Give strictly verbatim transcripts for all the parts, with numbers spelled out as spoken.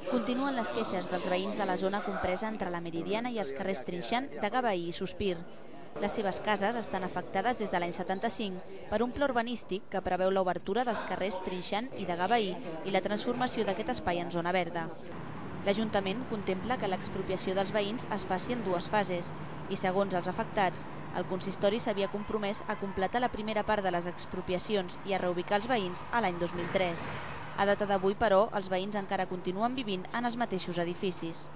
Continuen les queixes dels veïns de la zona compresa entre la Meridiana i els carrers Trinxant, de Gavaí i Sospir. Les seves cases estan afectades des de l'any setanta-cinc per un pla urbanístic que preveu l'obertura dels carrers Trinxant i de Gavaí i la transformació d'aquest espai en zona verda. L'Ajuntament contempla que l'expropiació dels veïns es faci en dues fases i, segons els afectats, el consistori s'havia compromès a completar la primera part de les expropiacions i a reubicar els veïns a l'any dos mil tres. A data d'avui, però, els veïns encara continuen vivint en els mateixos edificis.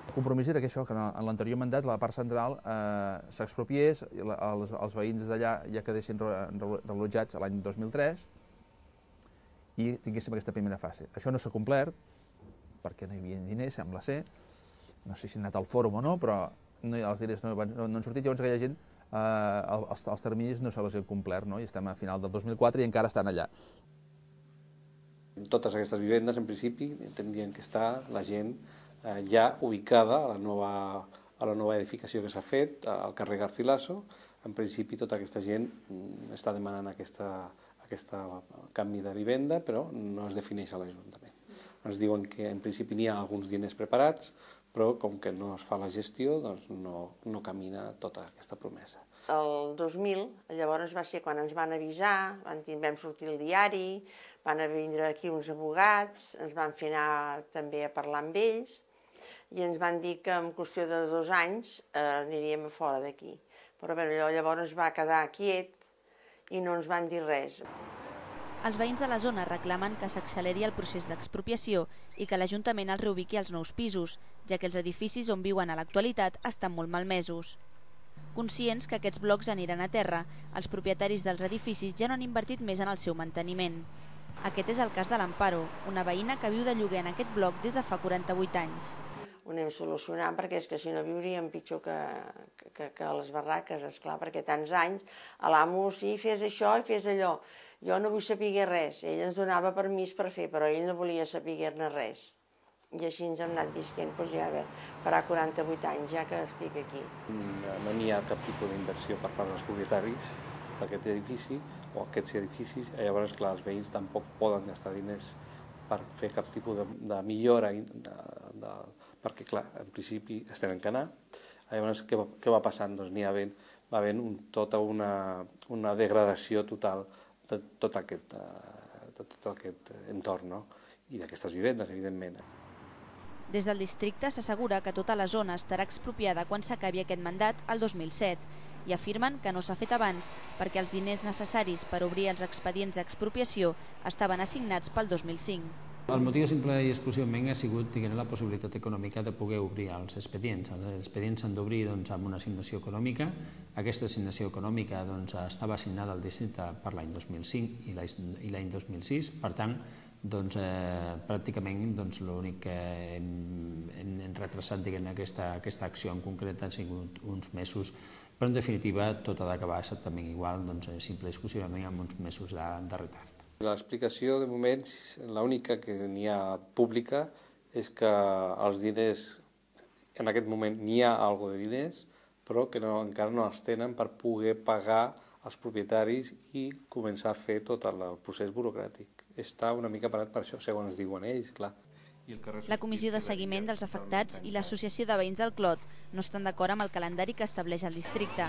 El compromís era que això, que en l'anterior mandat la part central eh, s'expropiés, els, els veïns d'allà ja quedessin relotjats l'any dos mil tres i tinguéssim aquesta primera fase. Això no s'ha complert, perquè no hi havia diners, sembla ser, no sé si ha anat al fòrum o no, però no, els diners no, no, no han sortit, llavors aquella gent, eh, els, els terminis no se les han complert, no? I estem a final del dos mil quatre i encara estan allà. Totes aquestes vivendes, en principi, tindrien que estar la gent eh, ja ubicada a la nova, a la nova edificació que s'ha fet, al carrer Garcilaso. En principi, tota aquesta gent està demanant aquesta, aquesta canvi de vivenda, però no es defineix a l'Ajuntament. Ens diuen que en principi n'hi ha alguns diners preparats, però com que no es fa la gestió, doncs no, no camina tota aquesta promesa. El dos mil, llavors va ser quan ens van avisar, van, vam sortir al diari, van vindre aquí uns abogats, ens van fer anar també a parlar amb ells i ens van dir que en qüestió de dos anys eh, aniríem a fora d'aquí. Però bé, llavors es va quedar quiet i no ens van dir res. Els veïns de la zona reclamen que s'acceleri el procés d'expropiació i que l'Ajuntament els reubiqui als nous pisos, ja que els edificis on viuen a l'actualitat estan molt malmesos. Conscients que aquests blocs aniran a terra, els propietaris dels edificis ja no han invertit més en el seu manteniment. Aquest és el cas de l'Amparo, una veïna que viu de lloguer en aquest bloc des de fa quaranta-vuit anys. Ho anem solucionant perquè és que si no viuríem pitjor que, que, que a les barraques, esclar, perquè tants anys a l'amo sí, fes això i fes allò. Jo no vull saber res, ell ens donava permís per fer, però ell no volia saber-ne res. I així ens hem anat visquent, doncs ja farà quaranta-vuit anys ja que estic aquí. No n'hi ha cap tipus d'inversió per part dels propietaris d'aquest edifici o aquests edificis, llavors clar, els veïns tampoc poden gastar diners per fer cap tipus de, de millora, de, de, perquè clar, en principi estem en canar. Llavors què va, què va passant? Doncs n'hi ha ben, va havent un, tota una, una degradació total de tot aquest, de tot aquest entorn, no? I d'aquestes vivendes, evidentment. Des del districte s'assegura que tota la zona estarà expropiada quan s'acabi aquest mandat el dos mil set i afirmen que no s'ha fet abans perquè els diners necessaris per obrir els expedients d'expropiació estaven assignats pel dos mil cinc. El motiu simple i exclusivament ha sigut diguem, la possibilitat econòmica de poder obrir els expedients. Els expedients s'han d'obrir doncs, amb una assignació econòmica. Aquesta assignació econòmica doncs, estava assignada al districte per l'any dos mil cinc i l'any dos mil sis. Per tant, doncs, eh, pràcticament doncs, l'únic que hem, hem, hem retrasat diguem, aquesta, aquesta acció en concret han sigut uns mesos, però en definitiva tot ha d'acabar exactament igual, doncs, simple i exclusivament amb uns mesos de, de retard. L'explicació, de moment, l'única que n'hi ha pública és que els diners, en aquest moment n'hi ha alguna de diners, però que no, encara no els tenen per poder pagar als propietaris i començar a fer tot el procés burocràtic. Està una mica parat per això, segons diuen ells, clar. La Comissió de Seguiment dels Afectats i l'Associació de Veïns del Clot no estan d'acord amb el calendari que estableix el districte.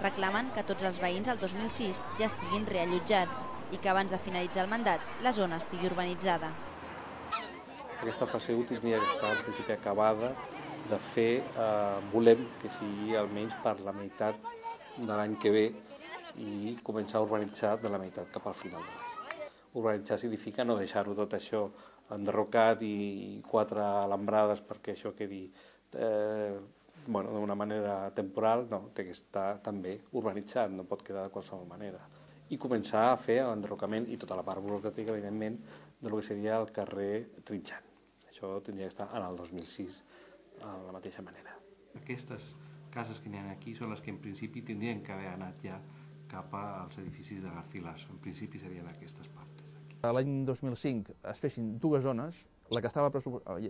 Reclamen que tots els veïns al dos mil sis ja estiguin reallotjats i que abans de finalitzar el mandat la zona estigui urbanitzada. Aquesta fase u tindria que estar en principi acabada de fer, eh, volem que sigui almenys per la meitat de l'any que ve i començar a urbanitzar de la meitat cap al final de l'any. Urbanitzar significa no deixar-ho tot això enderrocat i quatre alambrades perquè això quedi eh, bueno, d'una manera temporal, no, té que estar també urbanitzat, no pot quedar de qualsevol manera. I començar a fer l'enderrocament i tota la part burocràtica, evidentment, del que seria el carrer Trinxant. Això tindria que estar en el dos mil sis, de la mateixa manera. Aquestes cases que n'hi ha aquí són les que en principi tindrien que haver anat ja cap als edificis de Garcilaso. En principi serien aquestes parts d'aquí. L'any dos mil cinc es fessin dues zones, la que estava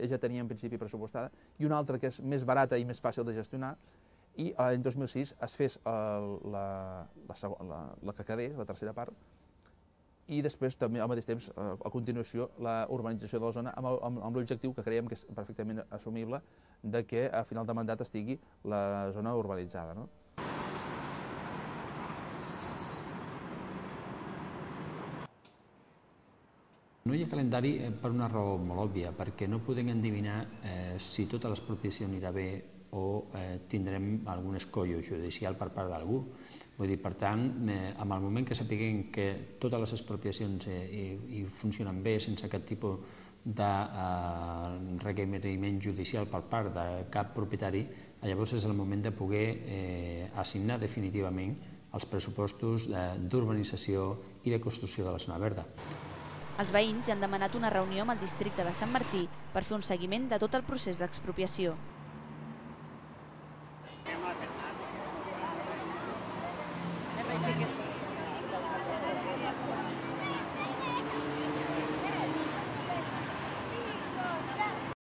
ja tenia en principi pressupostada, i una altra que és més barata i més fàcil de gestionar, i l'any dos mil sis es fes el, la, la, la, la que quedés, la tercera part, i després també al mateix temps, a continuació, la urbanització de la zona amb l'objectiu que creiem que és perfectament assumible de que a final de mandat estigui la zona urbanitzada. No hi ha calendari per una raó molt òbvia, perquè no podem endevinar si tota l'expropiació anirà bé o tindrem algun escollo judicial per part d'algú. Vull dir, per tant, en el moment que sapiguem que totes les expropiacions funcionen bé sense cap tipus de requeriment judicial per part de cap propietari, llavors és el moment de poder assignar definitivament els pressupostos d'urbanització i de construcció de la zona verda. Els veïns han demanat una reunió amb el districte de Sant Martí per fer un seguiment de tot el procés d'expropiació.